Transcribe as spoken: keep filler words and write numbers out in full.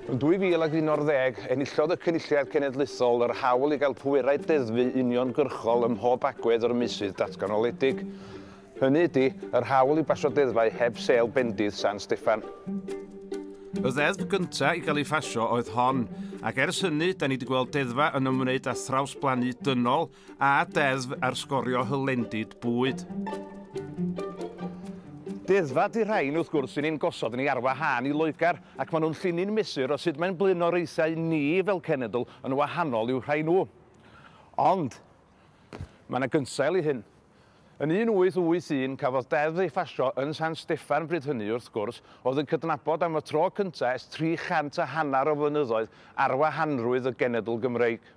Yn dwy fil ag unarddeg, enillodd y Cynulliad Cenedlaethol yr hawl i gael pwerau deddfu uniongyrchol ym mhob agwedd o'r meysydd datganoledig. Hynny ydy, yr hawl i basio deddfau heb sêl bendith San Steffan. Y ddeddf gyntaf i gael ei phasio oedd hon, ac ers hynny, da ni wedi gweld deddfa yn ymwneud â thrawsblannu dynol a deddf ar sgorio hylendid bwyd. Deddfa 'di rhain, wrth gwrs, sy'n ein gosod ni ar wahân i Loegr, ac maen nhw'n llinyn mesur o sut mae'n blaenoriaethau ni fel cenedl yn wahanol i'w rhai nhw. Ond, mae yna gynsail i hyn. Yn un wyth wyth un cafodd deddf ei phasio yn San Steffan bryd hynny, wrth gwrs, oedd yn cydnabod am y tro cyntaf ers tri chant a hanner o flynyddoedd ar wahanrwydd y genedl Gymreig.